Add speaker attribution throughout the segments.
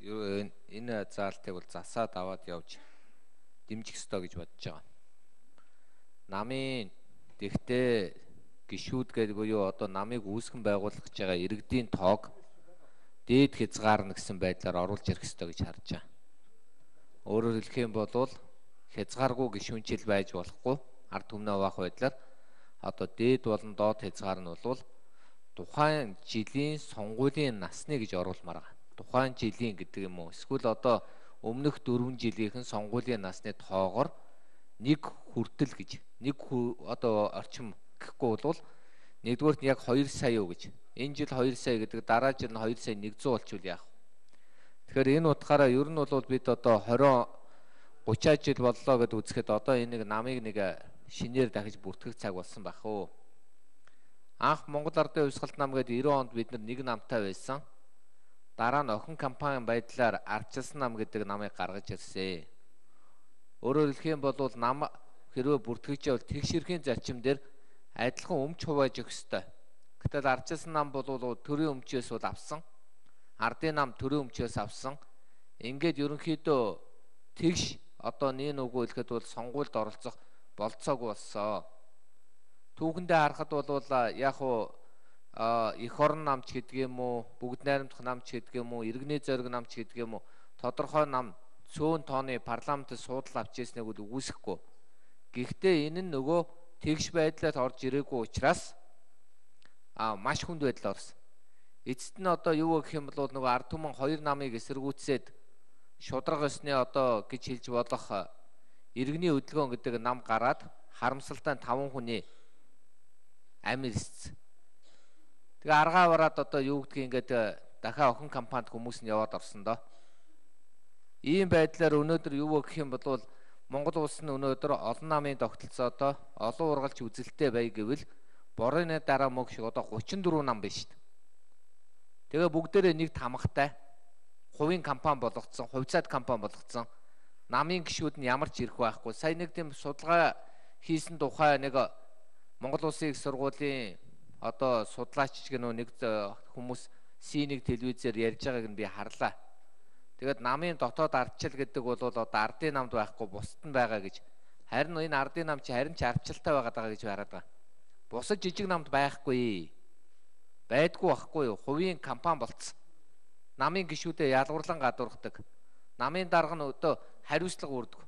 Speaker 1: энэ заалтыг бол засаад аваад явж дэмжих ёстой гэж бодож байгаа. Намын тэгтээ гишүүд гэдэг буюу одоо намыг үүсгэн байгуулах гэж байгаа иргэдийн тоог дээд хязгаарна гэсэн байдлаар оруулж ирэх ёстой гэж харж байгаа. Өөрөөр хэлэх юм бол хязгааргүй гишүүнчил байж болохгүй ард түмнээ хуваах байдлаар одоо дээд болон доод хязгаар нь бол тухайн жилийн сонгуулийн насны гэж оруулмаар байгаа. Тухайн жилийн гэдэг юм уу? Эсвэл одоо өмнөх 4 жилийнхэн сонгуулийн насны тоогоор нэг хүртэл гэж нэг одоо орчим гэхгүй бол нэгдүгээрт нь яг 2 сая юу гэж. Энэ жил 2 сая гэдэг дараа жил нь 2 сая 100 болчихвол яах вэ? Тэгэхээр энэ утгаараа ер нь бол бид одоо 20 30 жил боллоо гэдээ үзэхэд одоо энийг намыг нэг шинээр дахиж бүртгэх цаг болсон байх уу. Анх Монгол Ардын Хувьсгалт нам гэдэг 90 онд бид нэг намтай байсан. Дараа нь охин компани байдлаар Ардчилсан нам гэдэг намыг гаргаж ирсэн. Өөрөөр хэлэх юм бол нам хэрвээ бүртгэж явал тэгш эрхийн зарчим дээр адилхан өмч хувааж өгөх ёстой. Гэтэл Ардчилсан нам бол төрийн өмчөөс бол авсан. Ардын нам төрийн өмчөөс авсан. Ингээд ерөнхийдөө тэгш одоо нэг үгүй хэлэхэд бол сонгуульд оролцох болцоогүй болсон. Түүхэндээ харахад бол яг уу эх орон намч гэдэг юм уу, бүгд найрамдах намч гэдэг юм уу, иргэний зориг намч гэдэг юм уу, тодорхой нам цөөн тооны парламентд суудал авч ирснийг үгүйсэхгүй. Гэхдээ энэ нь нөгөө тэгш байдлаар орж ирээгүй учраас маш хүнд байдлаар орсон. Эцэст нь одоо юу гэх юм бол нөгөө ард түмэн 2 намыг эсэргүүцээд шудраг ёсны одоо гэж хэлж болох иргэний хөдөлгөөн гэдэг нам гараад харамсалтай 5 хүний амь ирсэн. Тэгээ аргаа бараад одоо юу гэдгийг ингээд дахиад охин компанид хүмүүс нь яваад орсон доо. Ийм байдлаар өнөөдөр юу гэх юм бол Монгол улс нь өнөөдөр олон намын тогтолцоодоо олон ургалч үзэлтэй бай гэвэл борооны дараа мөг шиг одоо 34 нам байна шүү дээ. Тэгээ бүгдээрээ нэг тамгатай хувийн компани болгоцсон, хувьцаат компани болгоцсон. Намын гишүүд нь ямар ч ирэх байхгүй. Сая нэг тийм судалгаа хийсэн тухай нэг Монгол Улсын их сургуулийн одоо судлаач гэнэ нэг хүмүүс C1 телевизээр ярьж байгааг нь би харлаа. Тэгээд намын дотоод ардчил гэдэг бол одоо ардын намд байхгүй бусад нь байгаа гэж. Харин энэ ардын нам чи харин ч ардчилтай байгаа гэж хараад байгаа. Бусад жижиг намд байхгүй. Байдгүй байхгүй юу? Хувийн компани болцсон. Намын гишүүдэд ялгуурлан гадуурхдаг. Намын дарга нь одоо хариуцлага үүрдэг.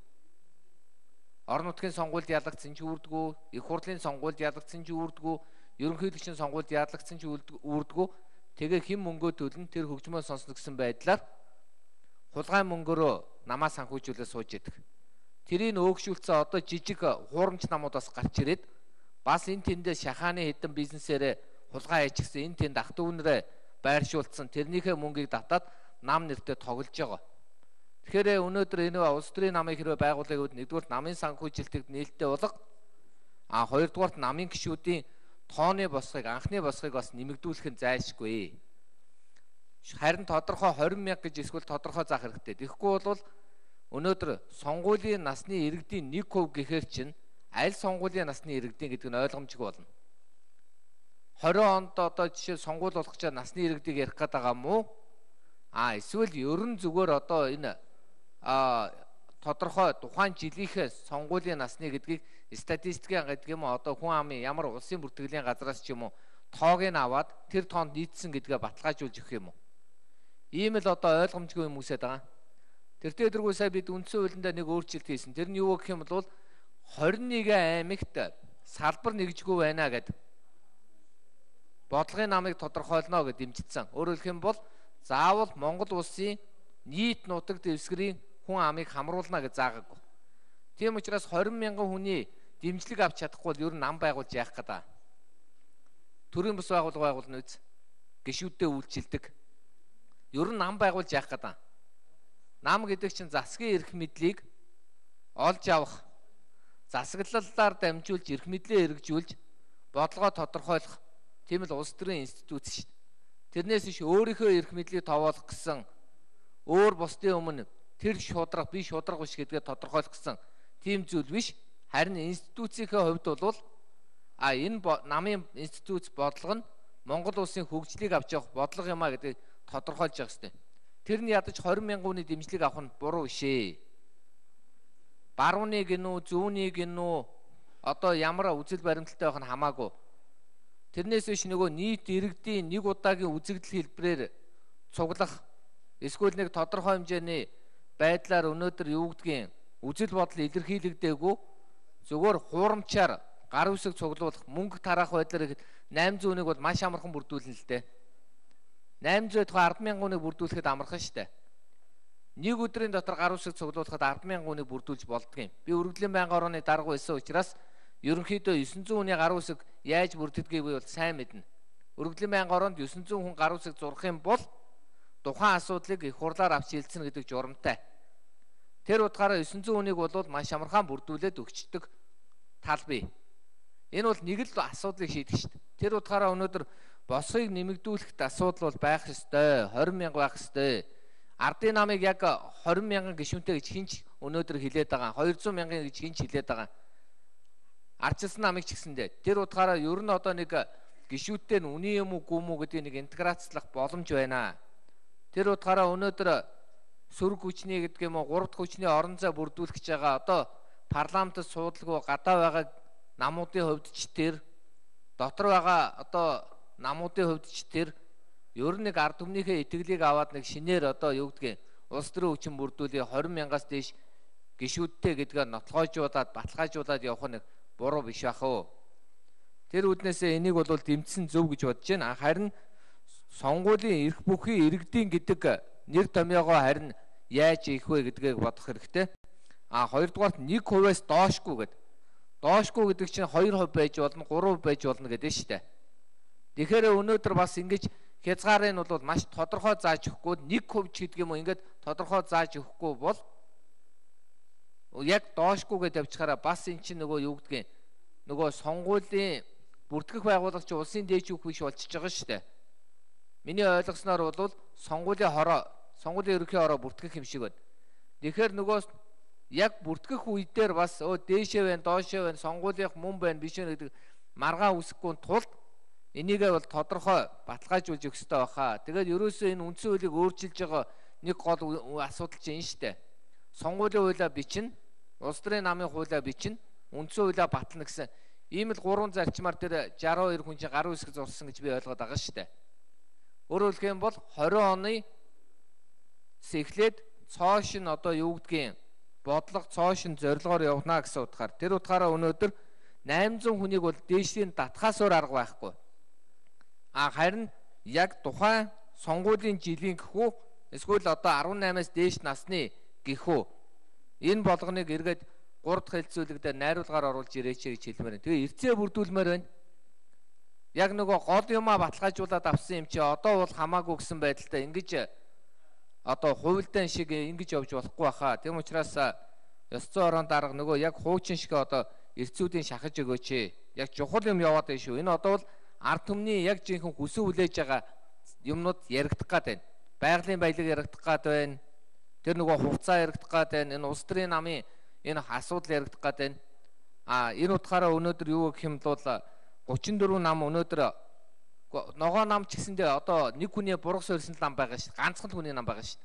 Speaker 1: Орон нутгийн сонгуульд ялагдсан ч үүрдэггүй, их хурлын сонгуульд ялагдсан ч үүрдэггүй, ерөнхийлөгчийн сонгуульд ялагдсан ч үүрдэггүй. Тэгээ хэн мөнгөө төлн тэр хөгжмөө сонсно гэсэн байдлаар хулгай мөнгөөрөө намаа санхүүжүүлээ сууж идэг. Тэрийг өөгшүүлсэн одоо жижиг хуурамч намууд бас гарч ирээд бас энэ тэндээ шахааны хэдэн бизнесээрээ хулгай хийчихсэн энэ тэнд ах дүүнрээ байршуулсан тэрнийхээ мөнгийг татаад нам нэртэй тоглож байгаа. Тэгэхээр өнөөдөр энэ улс төрийн намыг хэрвээ байгуулах гэвэл нэгдүгээр намын санхүүжилтийг нээлттэй болго хоёрдугаар намын гишүүдийн тооны босхийг анхны босхийг бас нэмэгдүүлэх нь зайлшгүй. Харин тодорхой 20 мянга гэж эсвэл тодорхой заах хэрэгтэй. Тэгэхгүй бол өнөөдөр сонгуулийн насны иргэдийн 1% гэхээр чинь аль сонгуулийн насны иргэдийн гэдэг нь ойлгомжгүй болно. 20 онд одоо жишээ сонгуул болгож насны иргэдийг ярих гээд байгаа юм уу? Эсвэл ерөн зүгээр одоо энэ тодорхой тухайн жилийнхээ сонгуулийн насны гэдгийг статистикийн гэдэг юм уу одоо хүн амын ямар улсын бүртгэлийн газраас ч юм уу тоог нь аваад тэр тоонд нийцсэн гэдгээ баталгаажуулж өгөх юм уу? Ийм л одоо ойлгомжгүй юм үсээд байгаа. Тэр дээргүй сая бид үндсэн хуулиндаа нэг өөрчлөлт хийсэн. Тэр нь юу гэх юм бол 21 аймагт салбар нэгжгүй байна гэдэг бодлогын намыг тодорхойлно гэж дэмжигдсэн. Өөрөөр хэлэх юм бол заавал Монгол улсын нийт нутаг дэвсгэрийн хүн амыг хамруулна гэж заагаагүй. Тийм учраас 20 мянган хүний дэмжлэг авч чадахгүй бол ер нь нам байгуулж яах гэдэг. Төрийн бас байгууллага байгуулна үз. Гишүүдтэй үйлчилдэг. Ер нь нам байгуулж яах гэдэг. Нам гэдэг чинь засгийн эрх мэдлийг олж авах, засаглалаар дамжуулж эрх мэдлээ хэрэгжүүлж бодлогоо тодорхойлох тийм л улс төрийн институт шүү дээ. Тэрнээс иш өөрийнхөө эрх мэдлийг товоолох гэсэн өөр бусдын өмнө тэр шудраг би шудраг биш гэдгээ тодорхойлох гэсэн тийм зүйл биш. Харин институцийн хувьд бол энэ намын институт бодлого нь Монгол улсын хөгжлийг авч явах бодлого юм а гэдэг тодорхойлж явах хэрэгтэй. тэрний ядаж 20,000 хүний дэмжлэг авах нь буруу шээ. Барууны гинүү, зүүнний гинүү одоо ямар үзэл баримталтай байх нь хамаагүй. Тэрнээс биш нөгөө нийт иргэдийн нэг удаагийн үзэгдэл хэлбэрээр цуглах эсвэл нэг тодорхой хэмжээний байдлаар өнөөдөр юу гэдгийг үзэл бодол илэрхийлэгдээгүй зөвхөн хуурамчаар гар үсэг цуглуулах мөнгө тараах байдлаар 800-ыг бол маш амархан бүрдүүлнэ л дээ. 800-д 10,000 хүнийг бүрдүүлэхэд амархан шүү дээ. Нэг өдрийн дотор гар үсэг цуглуулахад 10,000 хүнийг бүрдүүлж болдгийм. Би Үргэлжлэн байнгын орооны дарга байсан учраас ерөнхийдөө 900 хүний гар үсэг яаж бүрддгийг би бол сайн мэднэ. Үргэлжлэн байнгын ороонд 900 хүн гар үсэг зурх юм бол тухайн асуудлыг их хурлаар авч шийдсэн гэдэг журамтай. Тэр утгаараа 900 хүнийг бол маш амархан бүрдүүлээд өгчдөг тал бий. Энэ бол нэг л асуудлыг шийдэх шүү дээ. Тэр утгаараа өнөөдөр босхийг нэмэгдүүлэхэд асуудал бол байх ёстой. 20,000 байх ёстой. Ардын намыг яг 20,000 гишүүнтэй гэж хинч өнөөдөр хилээд байгаа. 200,000 гэж хинч хилээд байгаа. Ардчилсан намыг ч гэсэндээ. Тэр утгаараа ер нь одоо нэг гишүүдтэй нь үний юм уу гүм үү гэдэг нэг интеграцлах боломж байна. Тэр утгаараа өнөөдөр сөрөг хүчний гэдэг юм уу 3 дахь хүчний орон зай бүрдүүлэх гэж байгаа. Одоо парламентд суудлаггүй гадаа байгаа намуудын хувьд ч тэр дотор байгаа одоо намуудын хувьд ч тэр ер нь нэг ард түмнийхээ итгэлийг аваад нэг шинээр одоо юу гэдгийг улс төрийн хүчин бүрдүүлээ 20,000-аас дээш гишүүдтэй гэдгээ нотлогоожуулаад баталгаажуулаад явах нэг буруу биш бах уу. Тэр үднээсээ энийг бол дэмжсэн зөв гэж бодож байна. Харин сонгуулийн эрх бүхий иргэдийн гэдэг нэр томьёогоо харин яаж ийх вэ гэдгийг бодох хэрэгтэй. Хоёрдугаарт 1%-аас доошгүй гэдэг. Доошгүй гэдэг чинь 2% байж болно, 3% байж болно гэдэг нь шүү дээ. Тэгэхээр өнөөдөр бас ингэж хязгаарын бол маш тодорхой зааж өгөхгүй 1% ч гэдэг юм уу ингээд тодорхой зааж өгөхгүй бол яг доошгүйгээд явчихаараа бас эн чинь нөгөө юу гэдгийг нөгөө сонгуулийн бүртгэх байгуулагч улсын дээжүүх биш болчихж байгаа шүү дээ. Миний ойлгосноор бол сонгуулийн ерөнхий хороо бүртгэх юм шиг байна. Тэгэхээр нөгөө яг бүртгэх үе дээр бас дээшээ байна, доошоо байна, сонгуулийнх мөн байна, биш вэ гэдэг маргаан үсэхгүй тулд энийгээ бол тодорхой баталгаажуулж өгөх хэрэгтэй баха. Тэгээд ерөөсөө энэ үндсэн хуулийг өөрчилж байгаа нэг гол асуудал чинь энэ шүү дээ. Сонгуулийн хуулиа бичнэ, улс төрийн намын хуулиа бичнэ, үндсэн хуулиа батлна гэсэн ийм л 3 зарчмаар дээр 62 хүн чинь гар үсэг зурсан гэж би ойлгоод байгаа шүү дээ. Өөрөөр хэлэх юм бол 20 оны эхлээд цоошин одоо юу гэдгийг бодлого цоошин зорилгоор явна гэсэн утгаар. Тэр утгаараа өнөөдөр 800 хүнийг бол дээшлийн татхаасаар арга байхгүй. Харин яг тухайн сонгуулийн жилийн гэхүү эсвэл одоо 18-аас дээш насны гэхүү энэ болгоныг эргээд 3 дахь хэлцүүлэг дээр найруулгаар оруулж ирээч гэж хэлмээр байна. Тэгээ эрцээ бүрдүүлмээр байна. Яг нөгөө гол юмаа баталгаажуулаад авсан юм чи одоо бол хамаагүй гэсэн байдалтай ингэж одоо хувилдаан шиг ингэж явж болохгүй баха. Тэм учраас ёс зүйн орон дарга нөгөө яг хуучин шиг одоо эрцүүдийн шахаж өгөөч. Яг чухал юм яваад байна шүү. Энэ одоо бол ард түмний яг жинхэнэ хүсэн хүлээж байгаа юмнууд яригдах гад байна. Байгалийн баялаг яригдах гад байна. Тэр нөгөө хувцас яригдах гад байна. Энэ улс төрийн намын энэ асуудал яригдах гад байна. Энэ утгаараа өнөөдөр юу гэх юм бол 34 нам өнөөдөр ногоо нам ч гэсэндээ одоо нэг хүний бургас өрсөн нам байгаа шүү. Ганцхан хүний нам байгаа шүү.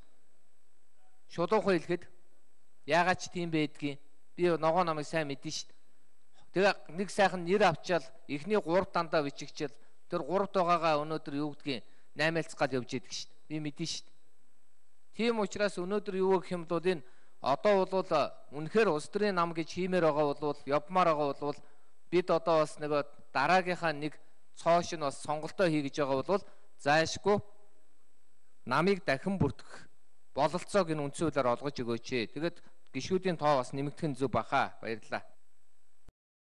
Speaker 1: Шулуухан хэлэхэд яагаад ч тийм байдгийг би ногоо намыг сайн мэдэн шүү. Тэгээ нэг сайхан нэр авчаал эхний 3 дандаа бичигчээл тэр 3 байгаагаа өнөөдөр юу гэдгийг 8-aalц гал явж идэг шүү. Би мэдэн шүү. Тийм учраас өнөөдөр юу гэх юм бол энэ одоо бол үнэхээр улс төрийн нам гэж хиймээр байгаа бол явмаар байгаа бол бид одоо бас нэг дараагийнхаа нэг цоош нь бас сонголтоо хийгэж байгаа бол зайшгүй намыг дахин бүртгэх бололцоог энэ үндсэн хуулиар олгож өгөөч. Тэгээд гишүүдийн тоо бас нэмэгдэх нь зөв баха. Баярлалаа.